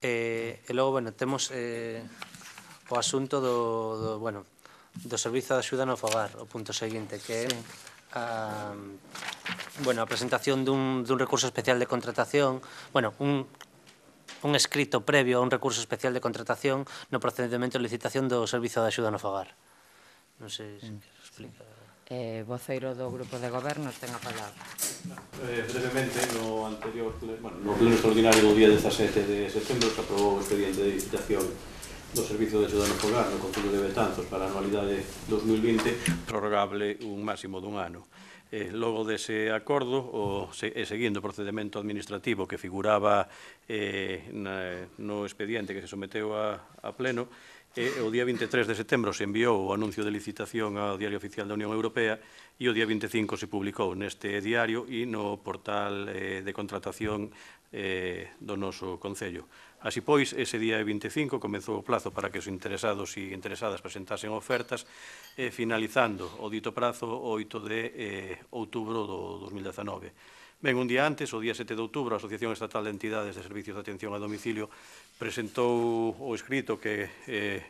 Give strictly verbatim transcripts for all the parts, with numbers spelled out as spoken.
E, e logo, bueno, temos eh, o asunto do, do, bueno, do Servizo de Axuda no Fogar, o punto seguinte, que é a, bueno, a presentación dun, dun recurso especial de contratación, bueno, un, un escrito previo a un recurso especial de contratación no procedimento de licitación do Servizo de Axuda no Fogar. Non sei se queres explicar. Eh, voceiro do Grupo de Goberno ten a palabra. Eh, brevemente, no anterior, bueno, no pleno extraordinario do día dezasete de setembro se aprobou o expediente de licitación do Servizo de Axuda no Fogar no Concello de Betanzos para a anualidade dos mil vinte, prorrogable un máximo dun ano. Eh, logo dese acordo, o, se, e seguindo o procedimento administrativo que figuraba eh, na, no expediente que se someteu a, a pleno, e o día vinte e tres de setembro se enviou o anuncio de licitación ao Diario Oficial da Unión Europea e o día vinte e cinco se publicou neste diario e no portal eh, de contratación eh, do noso Concello. Así pois, ese día vinte e cinco comezou o plazo para que os interesados e interesadas presentasen ofertas, eh, finalizando o dito prazo o oito de eh, outubro do dos mil dezanove. Ben, un día antes, o día sete de outubro, a Asociación Estatal de Entidades de Servicios de Atención a Domicilio presentou o escrito que eh,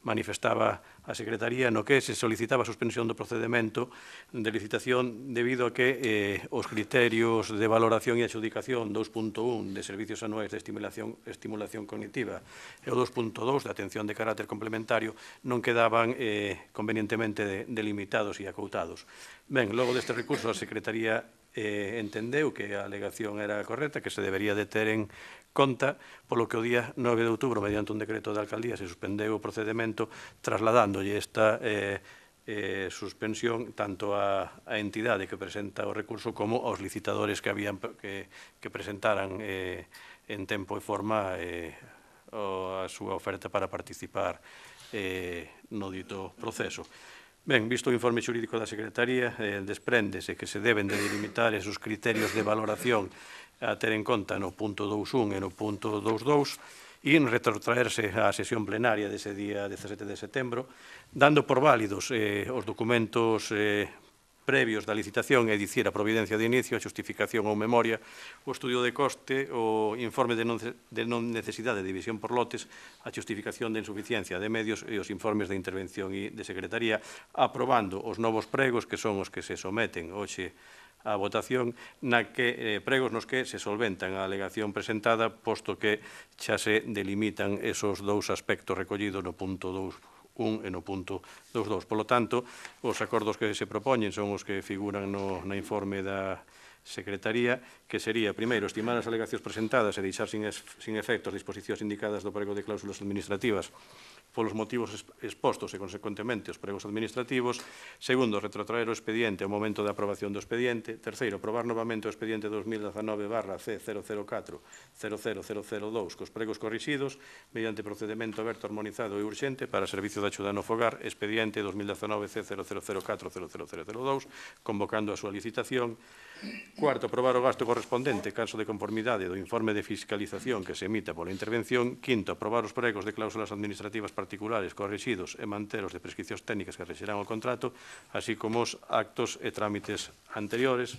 manifestaba a Secretaría no que se solicitaba a suspensión do procedimento de licitación debido a que eh, os criterios de valoración e adxudicación dos punto un de servicios anuais de estimulación, estimulación cognitiva e o dos punto dous de atención de carácter complementario non quedaban eh, convenientemente de, delimitados e acoutados. Ben, logo deste recurso a Secretaría eh, entendeu que a alegación era correcta, que se debería de ter en conta, polo que o día nove de outubro, mediante un decreto de alcaldía, se suspendeu o procedimento trasladándolle esta eh, eh, suspensión tanto á, á entidade que presenta o recurso como aos licitadores que habían que, que presentaran eh, en tempo e forma eh, o, a súa oferta para participar eh, no dito proceso. Ben, visto o informe xurídico da Secretaría, eh, despréndese que se deben de delimitar esos criterios de valoración a ter en conta no punto dous punto un e no punto dous punto dous e retrotraerse á sesión plenaria dese día dezasete de setembro, dando por válidos eh, os documentos eh, previos da licitación, é dicir, a providencia de inicio, a xustificación ou memoria, o estudio de coste, o informe de non, de non necesidade de división por lotes, a xustificación de insuficiencia de medios e os informes de intervención e de secretaría, aprobando os novos pregos que son os que se someten hoxe a votación, na que eh, pregos nos que se solventan a alegación presentada, posto que xa se delimitan esos dous aspectos recollidos no punto dous un e no punto dous punto dous. Polo tanto, os acordos que se propoñen son os que figuran no, no informe da Secretaría, que sería, primeiro, estimar as alegacións presentadas e deixar sin, es, sin efectos disposicións indicadas do prego de cláusulas administrativas polos motivos expostos e, consecuentemente, os pregos administrativos. Segundo, retrotraer o expediente ao momento da aprobación do expediente. Terceiro, aprobar novamente o expediente dos mil dezanove barra C cero cero catro cero cero cero cero dous cos pregos corrixidos mediante procedimento aberto, armonizado e urxente para Servicio de Axuda no Fogar, expediente dos mil dezanove C cero cero cero catro cero cero cero cero dous, convocando a súa licitación. Cuarto, aprobar o gasto correspondente, caso de conformidade do informe de fiscalización que se emita pola intervención. Quinto, aprobar os pregos de cláusulas administrativas particulares corrixidos e manteros de prescricións técnicas que rexerán o contrato, así como os actos e trámites anteriores.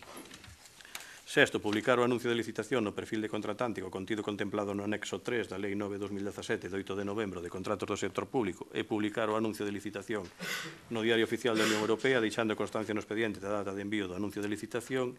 Sexto, publicar o anuncio de licitación no perfil de contratante co contido contemplado no anexo tres da Lei nove barra dos mil dezasete de oito de novembro de contratos do sector público e publicar o anuncio de licitación no Diario Oficial da Unión Europea, deixando constancia no expediente da data de envío do anuncio de licitación.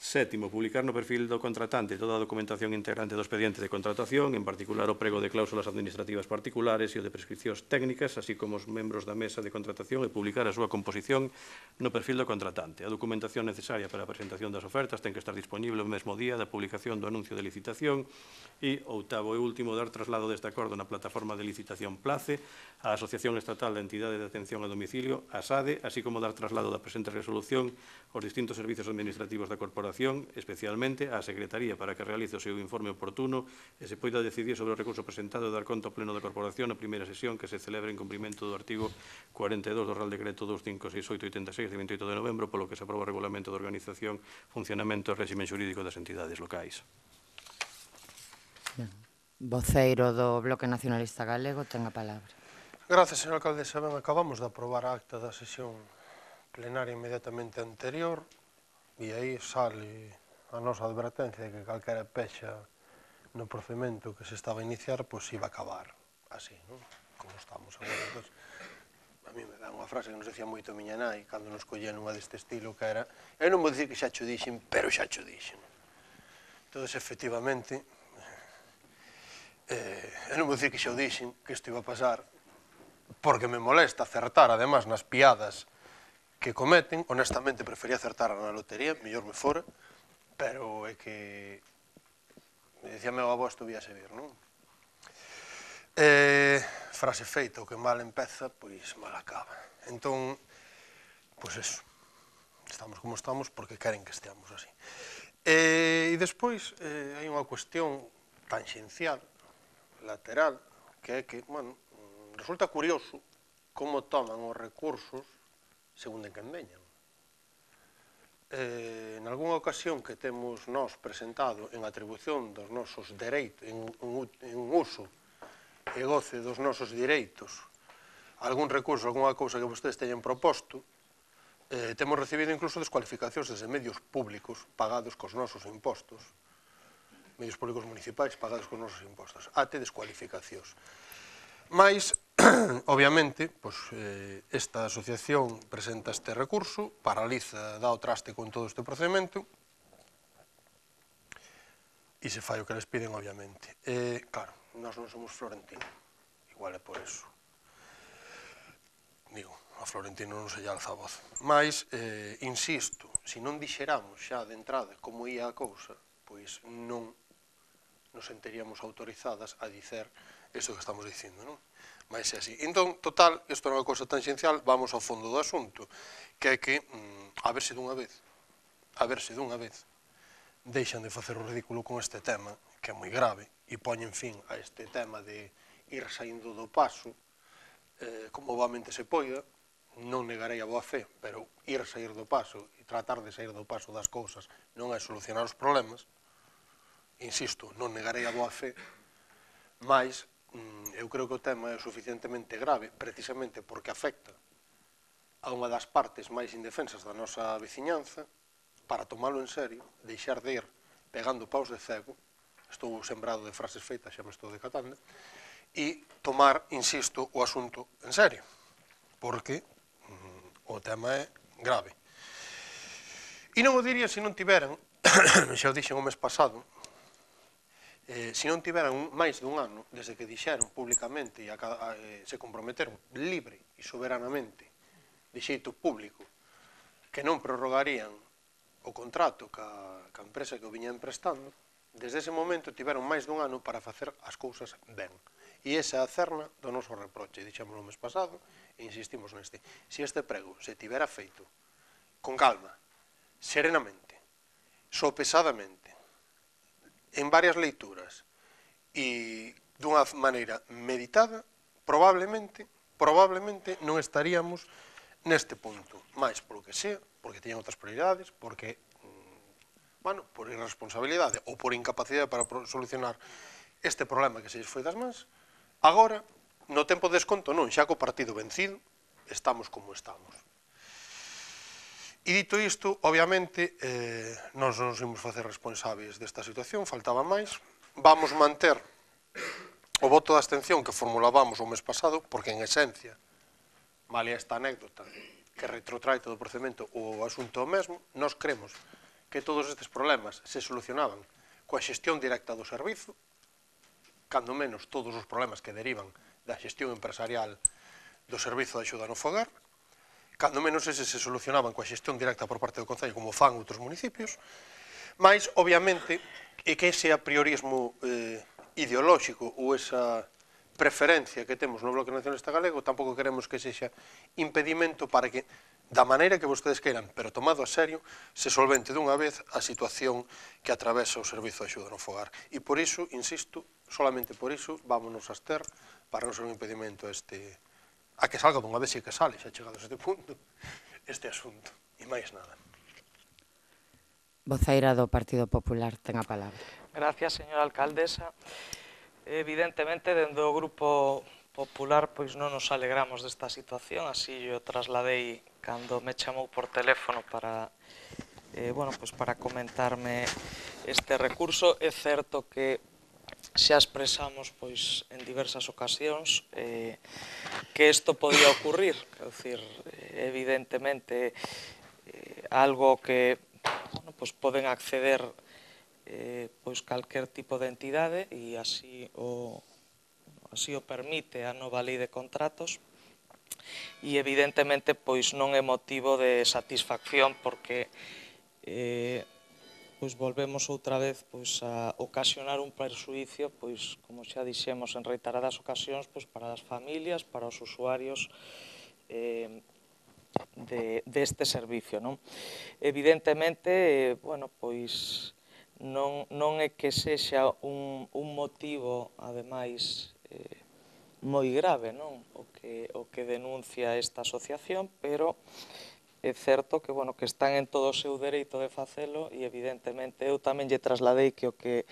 Sétimo, publicar no perfil do contratante toda a documentación integrante do expediente de contratación, en particular o prego de cláusulas administrativas particulares e o de prescricións técnicas, así como os membros da mesa de contratación, e publicar a súa composición no perfil do contratante. A documentación necesaria para a presentación das ofertas ten que estar disponible o mesmo día da publicación do anuncio de licitación. E, oitavo e último, dar traslado deste acordo na plataforma de licitación Place á Asociación Estatal de Entidade de Atención a Domicilio, a SADE, así como dar traslado da presente resolución aos distintos servicios administrativos da Corporación, especialmente á Secretaría, para que realice o seu informe oportuno e se poida decidir sobre o recurso presentado e dar conta ao Pleno da Corporación na primeira sesión que se celebre en cumprimento do artigo cuarenta e dous do Real Decreto dos cinco seis oito oitenta e seis de veintioito de novembro, polo que se aproba o Regulamento de Organización, Funcionamento e Réximen Xurídico das Entidades Locais. Voceiro do Bloque Nacionalista Galego ten a palabra. Gracias, señor alcaldesa. Ben, acabamos de aprobar a acta da sesión plenaria inmediatamente anterior e aí sale a nosa advertencia de que calquera pexa no procedimento que se estaba a iniciar, pois iba a acabar así, non? Como estamos agora. Entón, a mí me dá unha frase que nos decía moito a miña nai, cando nos collían unha deste estilo, que era: eu non vou dicir que xa cho dixen, pero xa cho dixen. Entón, efectivamente, eh, eu non vou dicir que xa o dixen, que isto iba a pasar, porque me molesta acertar, además, nas piadas que cometen. Honestamente, prefería acertar na lotería, mellor me fora, pero é que, me dicía meu avó, isto víase vir, non? Eh, frase feita, o que mal empeza, pois mal acaba. Entón, pois eso, estamos como estamos porque queren que esteamos así. E, e despois, eh, hai unha cuestión tangencial, lateral, que é que, bueno, resulta curioso como toman os recursos segundo en quen veñan. Eh, en algunha ocasión que temos nós presentado en atribución dos nosos dereitos, en, en, en uso e goce dos nosos direitos, algún recurso, algunha cousa que vostedes teñen proposto, eh, temos recibido incluso descualificacións desde medios públicos pagados cos nosos impostos, medios públicos municipais pagados cos nosos impostos, até descualificacións. Mais, obviamente, pois, eh, esta asociación presenta este recurso, paraliza, dá o traste con todo este procedimento, e se fai o que les piden, obviamente. Eh, claro, nós non somos Florentino, igual é por eso. Digo, a Florentino non se lle alza a voz. Mais, eh, insisto, se non dixeramos xa de entrada como ia a cousa, pois non nos sentiríamos autorizadas a dicer isto que estamos dicindo, non? Mais é así. Entón, total, isto é unha cousa tangencial, vamos ao fondo do asunto, que é que, mm, a verse dunha vez, a verse dunha vez, deixan de facer o ridículo con este tema, que é moi grave, e poñen fin a este tema de ir saindo do paso, eh, como boamente se poida, non negarei a boa fe, pero ir sair do paso e tratar de sair do paso das cousas non é solucionar os problemas. Insisto, non negarei a boa fe, mas eu creo que o tema é suficientemente grave, precisamente porque afecta a unha das partes máis indefensas da nosa veciñanza, para tomalo en serio, deixar de ir pegando paus de cego, estou sembrado de frases feitas, xa me estou decatando, e tomar, insisto, o asunto en serio, porque mm, o tema é grave. E non o diría se non tiveran, xa o dixen o mes pasado, eh, se non tiveran máis dun ano, desde que dixeron públicamente e a, a, eh, se comprometeron libre e soberanamente, de xeito público, que non prorrogarían o contrato ca, ca empresa que o viña emprestando, desde ese momento tiveron máis dun ano para facer as cousas ben. E esa é a cerna do noso reproche. Dixemos no mes pasado e insistimos neste. Se este prego se tivera feito con calma, serenamente, sopesadamente, en varias leituras e dunha maneira meditada, probablemente, probablemente non estaríamos neste punto. Mais polo que sea, porque teñen outras prioridades, porque, bueno, por irresponsabilidade ou por incapacidade para solucionar este problema que se lles foi das mans, agora, no tempo de desconto non, xa co partido vencido, estamos como estamos. E dito isto, obviamente, eh, non nos imos facer responsables desta situación, faltaba máis, vamos manter o voto de abstención que formulábamos o mes pasado, porque en esencia, vale esta anécdota, que retrotrae todo o procedimento o asunto mesmo, nós cremos que todos estes problemas se solucionaban coa xestión directa do servizo, cando menos todos os problemas que derivan da xestión empresarial do servizo de axuda no fogar, cando menos eses se solucionaban coa xestión directa por parte do Concello, como fan outros municipios, mas, obviamente, é que ese apriorismo eh, ideolóxico ou esa preferencia que temos no Bloque Nacionalista Galego tampouco queremos que sexa impedimento para que, da maneira que vostedes queiran, pero tomado a serio, se solvente dunha vez a situación que atravesa o servizo de axuda no fogar. E por iso, insisto, solamente por iso, vámonos a abster para non ser un impedimento a este, a que salga dunha vez e que sale, xa chegados a este punto, este asunto. E máis nada. Voceira do Partido Popular, ten a palabra. Gracias, señora alcaldesa. Evidentemente, dende o Grupo Popular, pois non nos alegramos desta situación, así yo trasladei cando me chamou por teléfono para, eh, bueno, pois para comentarme este recurso. É certo que xa expresamos pois en diversas ocasións eh, que isto podía ocurrir, quer decir, evidentemente eh, algo que bueno, pois poden acceder eh, pois calquer tipo de entidade e así o, así o permite a nova lei de contratos e evidentemente pois non é motivo de satisfacción porque eh, pois volvemos outra vez pois a ocasionar un perxuicio, pois como xa dixemos en reiteradas ocasións, pois para as familias, para os usuarios eh, de, deste servicio, non? Evidentemente, eh, bueno, pois non, non é que sexa un, un motivo, ademais, eh, moi grave, non? O que, o que denuncia esta asociación, pero é certo que, bueno, que están en todo o seu dereito de facelo e, evidentemente, eu tamén lle trasladei que o que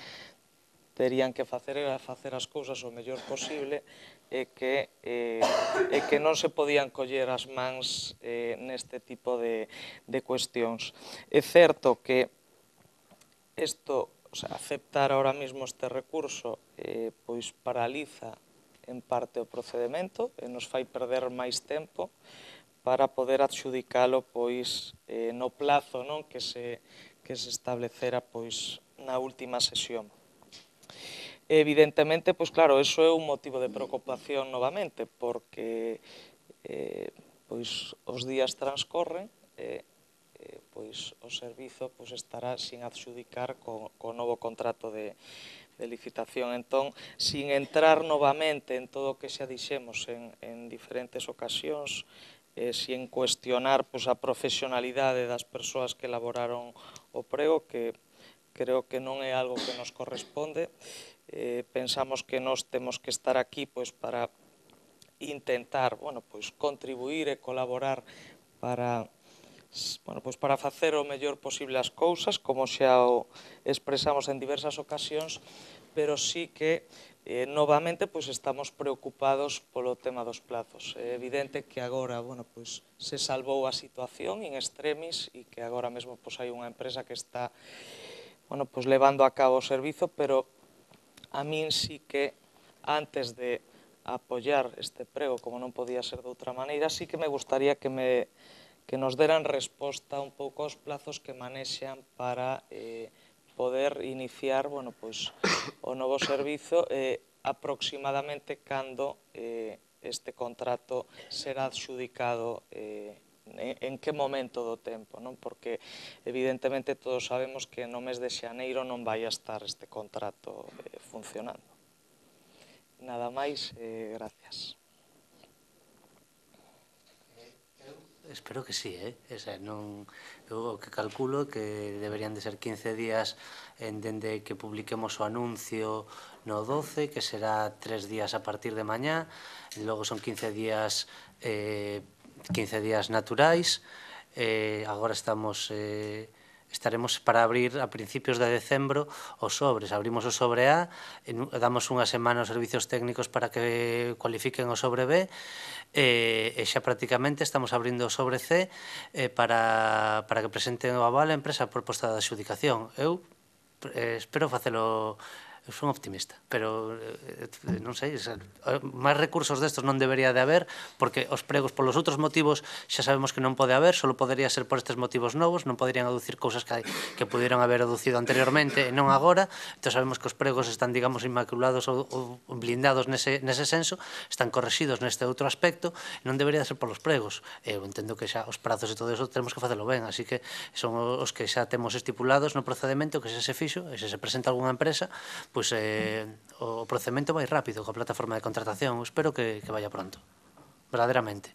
terían que facer era facer as cousas o mellor posible e que, eh, e que non se podían coller as mans eh, neste tipo de, de cuestións. É certo que isto, o sea, aceptar ahora mismo este recurso eh, pois paraliza en parte o procedimento e nos fai perder máis tempo para poder adxudicalo pois eh, no plazo, non, que se que se establecera pois na última sesión. Evidentemente, pois claro, eso é un motivo de preocupación novamente, porque eh, pois os días transcorren e eh, pois o servizo pois estará sin adxudicar co, co novo contrato de, de licitación. Entón, sin entrar novamente en todo o que xa dixemos en, en diferentes ocasións, eh, sin cuestionar pois, a profesionalidade das persoas que elaboraron o prego, que creo que non é algo que nos corresponde. Eh, pensamos que nós temos que estar aquí pois, para intentar bueno, pois, contribuir e colaborar para, bueno, pois, para facer o mellor posible as cousas, como xa o expresamos en diversas ocasións, pero sí que Eh, novamente pois, estamos preocupados polo tema dos plazos. É evidente que agora bueno, pois, se salvou a situación in extremis e que agora mesmo pois, hai unha empresa que está bueno, pois, levando a cabo o servizo, pero a min sí que antes de apoiar este prego, como non podía ser de outra maneira, sí que me gustaría que, me, que nos deran resposta un pouco aos plazos que manexan para eh, poder iniciar bueno, pois, o novo servizo eh, aproximadamente cando eh, este contrato será adxudicado eh, en, en que momento do tempo, non? Porque evidentemente todos sabemos que no mes de xaneiro non vai a estar este contrato eh, funcionando. Nada máis, eh, gracias. Espero que sí, eh? Esa, non, eu o que calculo que deberían de ser quince días en dende que publiquemos o anuncio no doce, que será tres días a partir de mañá, e logo son quince días eh, quince días naturais, eh, agora estamos... Eh, estaremos para abrir a principios de decembro os sobres. Abrimos o sobre A, damos unha semana aos servicios técnicos para que cualifiquen o sobre B e, e xa prácticamente estamos abrindo o sobre C eh, para, para que presenten o aval a empresa a proposta de adxudicación. Eu eh, espero facelo... Eu son optimista, pero eh, non sei, máis recursos destos non debería de haber, porque os pregos polos outros motivos xa sabemos que non pode haber, só podería ser por estes motivos novos, non poderían aducir cousas que, que pudieron haber aducido anteriormente e non agora. Entón sabemos que os pregos están, digamos, inmaculados ou, ou blindados nese, nese senso, están correxidos neste outro aspecto, non debería ser polos pregos. Eu entendo que xa os prazos e todo eso temos que facelo ben, así que son os que xa temos estipulados no procedimento, que xa se fixo, e se se presenta algunha empresa, pois eh, o procedimento vai rápido coa plataforma de contratación. Espero que, que vaya pronto, verdadeiramente.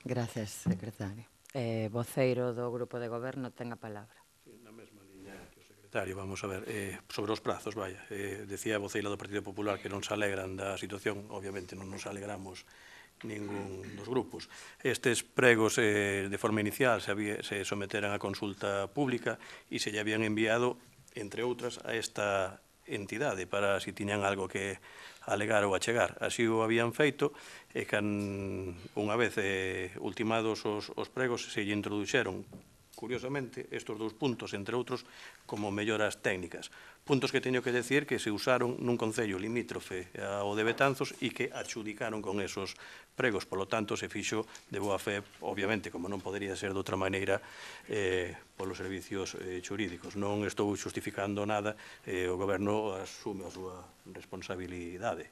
Gracias, secretario. Eh, voceiro do Grupo de Goberno ten a palabra. Sí, na mesma liña que o secretario, vamos a ver, eh, sobre os prazos, vaya, eh, decía a voceira do Partido Popular que non se alegran da situación, obviamente non nos alegramos ningún dos grupos. Estes pregos eh, de forma inicial se, había, se someteran a consulta pública e se lle habían enviado, entre outras, a esta entidade para si tiñan algo que alegar ou achegar. Así o habían feito e can unha vez eh, ultimados os, os pregos se lle introduxeron curiosamente, estes dous puntos, entre outros, como melloras técnicas. Puntos que teño que decir que se usaron nun concello limítrofe ao de Betanzos e que adxudicaron con esos pregos. Polo tanto, se fixo de boa fe, obviamente, como non podería ser de outra maneira, eh, polos servicios eh, xurídicos. Non estou justificando nada, eh, o Goberno asume a súa responsabilidade.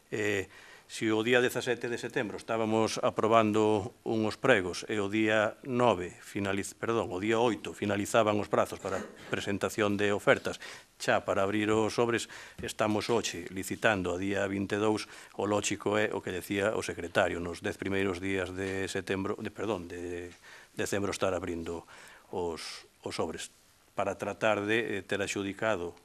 Eh, Se o día dezasete de setembro estábamos aprobando uns pregos e o día nove, finaliz, perdón, o día oito finalizaban os prazos para presentación de ofertas, xa para abrir os sobres, estamos hoxe licitando a día vinte e dous, o lógico é o que decía o secretario, nos dez primeiros días de setembro, de, perdón, de decembro estar abrindo os, os sobres, para tratar de eh, ter axudicado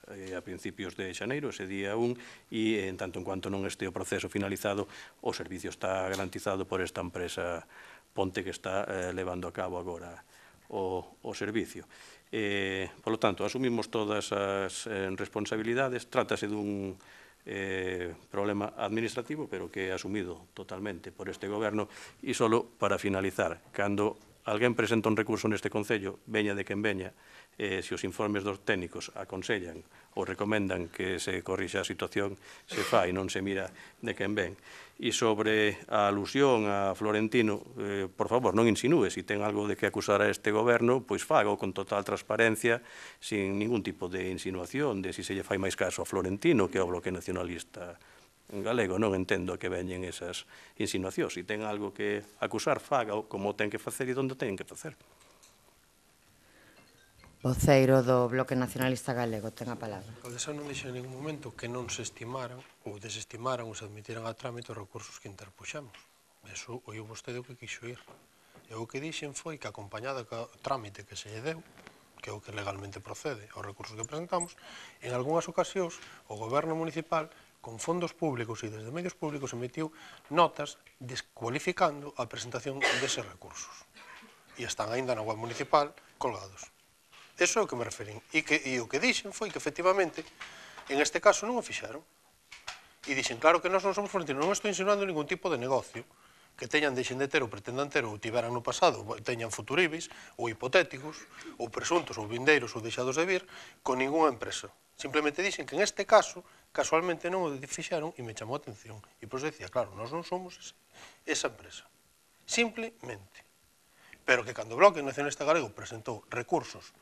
a principios de xaneiro, ese día un, e en tanto en cuanto non este o proceso finalizado, o servicio está garantizado por esta empresa Ponte que está eh, levando a cabo agora o, o servicio. Eh, por lo tanto, asumimos todas as eh, responsabilidades, trátase dun eh, problema administrativo, pero que é asumido totalmente por este goberno, e solo para finalizar, cando alguén presenta un recurso neste Concello, veña de quen veña, eh, se os informes dos técnicos aconsellan ou recomendan que se corrixa a situación, se fai, non se mira de quen ven. E sobre a alusión a Florentino, eh, por favor, non insinúe, se ten algo de que acusar a este goberno, pois fago con total transparencia, sin ningún tipo de insinuación de se se lle fai máis caso a Florentino que ao Bloque Nacionalista galego. Non entendo que veñen esas insinuacións. Se ten algo que acusar, faga como ten que facer e onde ten que facer. Voceiro do Bloque Nacionalista Galego, ten a palabra. O Alcaldesa non dixo en ningún momento que non se estimaran ou desestimaran ou se admitiran a trámite os recursos que interpuxamos. Eso oiu vostede o que quixo ir. E o que dixen foi que acompañada co trámite que se lle deu, que é o que legalmente procede aos recursos que presentamos, en algunhas ocasións o goberno municipal con fondos públicos e desde medios públicos emitiu notas descualificando a presentación deses recursos. E están aínda na web municipal colgados. Eso é o que me referín. E, que, e o que dixen foi que, efectivamente, en este caso non o fixaron. E dixen, claro que nós non somos florentinos, non estou insinuando ningún tipo de negocio que teñan, deixen de ter ou pretendan ter ou tiveran no pasado, teñan futuribis ou hipotéticos, ou presuntos ou vindeiros ou deixados de vir, con ninguna empresa. Simplemente dixen que en este caso, casualmente non o fixaron e me chamou a atención. E pois decía, claro, nós non somos esa empresa. Simplemente. Pero que cando o Bloque Nacionalista Galego presentou recursos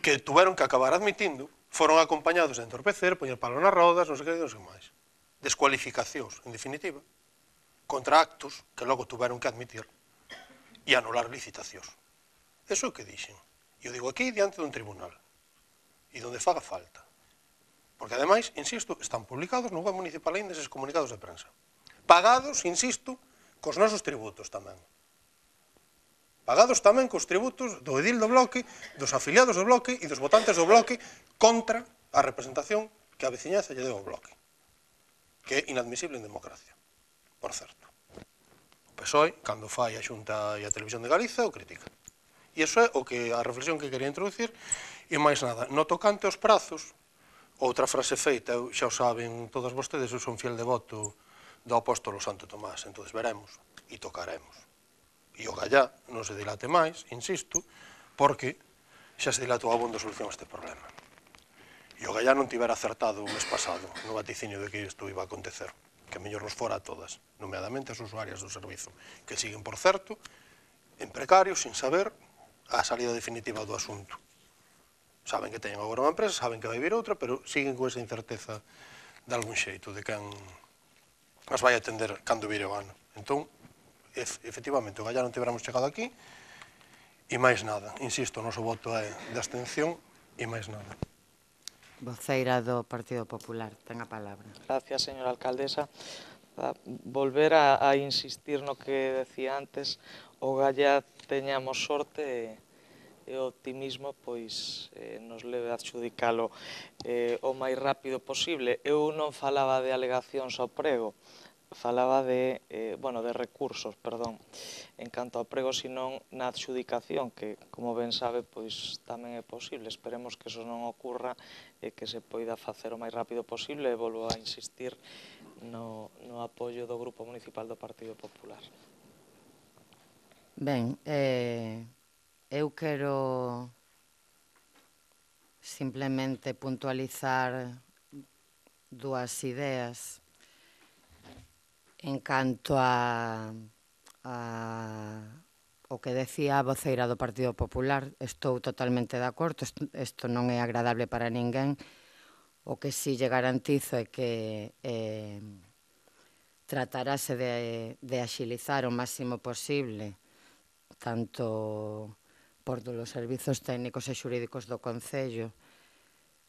que tuveron que acabar admitindo, foron acompañados de entorpecer, poñer palo nas rodas, non sei que, non sei máis. Descualificacións, en definitiva, contra actos que logo tuveron que admitir e anular licitacións. Eso é o que dixen. E o digo aquí diante dun tribunal. E donde faga falta. Porque, ademais, insisto, están publicados no web municipal ainda eses comunicados de prensa. Pagados, insisto, cos nosos tributos tamén. Pagados tamén cos tributos do edil do Bloque, dos afiliados do Bloque e dos votantes do Bloque contra a representación que a veciñanza lle deu ao Bloque, que é inadmisible en democracia, por certo. O P S O E, cando fai a Xunta e a Televisión de Galiza, o critica. E iso é o que a reflexión que quería introducir, e máis nada, no tocante aos prazos, outra frase feita, eu xa o saben todas vostedes, eu son fiel devoto do apóstolo Santo Tomás, entón veremos e tocaremos. E o Gallá non se dilate máis, insisto, porque xa se dilatou a bondo solución a este problema. E o Gallá non tivera acertado o mes pasado no vaticinio de que isto iba a acontecer, que mellor nos fora a todas, nomeadamente as usuarias do servizo, que siguen, por certo, en precarios, sin saber a salida definitiva do asunto. Saben que teñen agora unha empresa, saben que vai vir outra, pero siguen con esa incerteza de algún xeito, de quen as vai atender cando vire o ano. Entón, efectivamente, o Gallá non tiveramos chegado aquí, e máis nada. Insisto, o noso voto é de abstención e máis nada. Voceira do Partido Popular, ten a palabra. Gracias, señora alcaldesa. A volver a, a insistir no que decía antes, o Gallá teñamos sorte e o optimismo pois eh, nos leve a adxudicalo eh, o máis rápido posible. Eu non falaba de alegacións ao prego, falaba de, eh, bueno, de recursos, perdón, en canto ao prego, senón na adxudicación, que, como ben sabe, pois tamén é posible. Esperemos que eso non ocurra e que se poida facer o máis rápido posible, e volvo a insistir no, no apoio do Grupo Municipal do Partido Popular. Ben, eh, eu quero simplemente puntualizar dúas ideas en canto a, a o que decía a voceira do Partido Popular. Estou totalmente de acordo, isto non é agradable para ninguén. O que si lle garantizo é que eh, tratarase de, de axilizar o máximo posible tanto por dos servizos técnicos e xurídicos do Concello.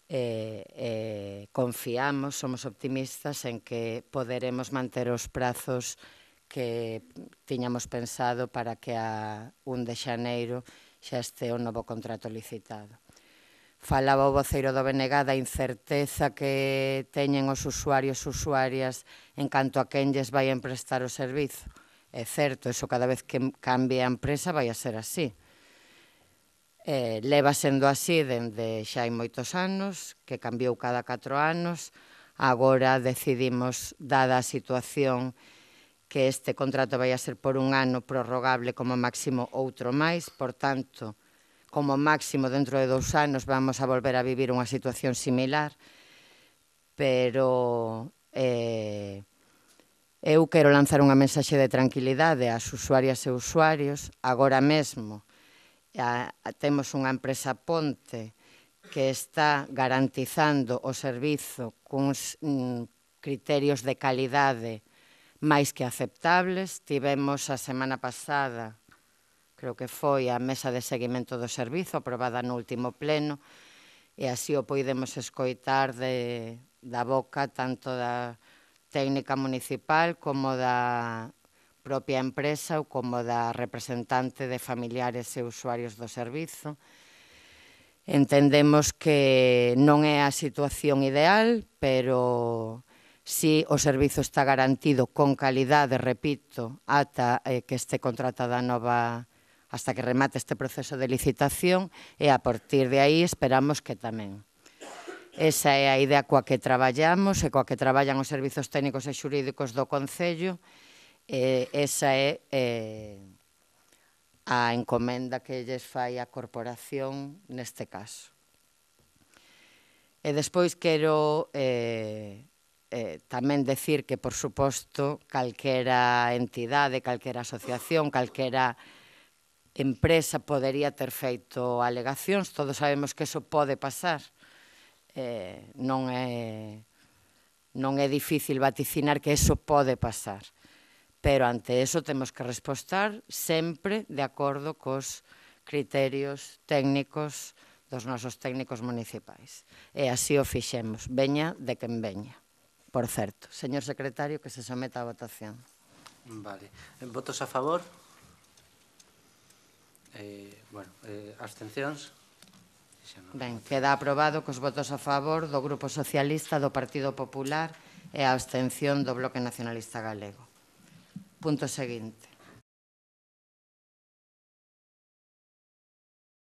Eh, eh, confiamos, somos optimistas en que poderemos manter os prazos que tiñamos pensado para que a un de xaneiro xa este o novo contrato licitado. Falaba o voceiro do B N G da incerteza que teñen os usuarios e usuarias en canto a quen lles vai emprestar o servizo. É certo, eso cada vez que cambie a empresa vai a ser así. Eh, leva sendo así dende xa hai moitos anos, que cambiou cada catro anos. Agora decidimos, dada a situación, que este contrato vai a ser por un ano prorrogable como máximo outro máis. Por tanto, como máximo dentro de dous anos vamos a volver a vivir unha situación similar. Pero eh, eu quero lanzar unha mensaxe de tranquilidade ás usuarias e usuarios. Agora mesmo a, a, temos unha empresa ponte que está garantizando o servizo cuns mm, criterios de calidade máis que aceptables. Tivemos a semana pasada, creo que foi a mesa de seguimento do servizo aprobada no último pleno, e así o poidemos escoitar de, da boca tanto da técnica municipal como da propia empresa ou como da representante de familiares e usuarios do servizo. Entendemos que non é a situación ideal, pero si o servizo está garantido con calidade, repito, ata eh, que este contrato da nova, hasta que remate este proceso de licitación, e a partir de aí esperamos que tamén. Esa é a idea coa que traballamos e coa que traballan os servizos técnicos e xurídicos do Concello. Eh, esa é eh, a encomenda que lles fai a corporación neste caso. E despois quero eh, eh, tamén decir que, por suposto, calquera entidade, calquera asociación, calquera empresa podería ter feito alegacións. Todos sabemos que eso pode pasar. Eh, non é, non é difícil vaticinar que eso pode pasar. Pero ante eso temos que respostar sempre de acordo cos criterios técnicos dos nosos técnicos municipais. E así o fixemos, veña de quen veña. Por certo, señor secretario, que se someta a votación. Vale. Votos a favor? Eh, bueno, eh, abstencións? Ben, queda aprobado cos votos a favor do Grupo Socialista, do Partido Popular e a abstención do Bloque Nacionalista Galego. Punto seguinte.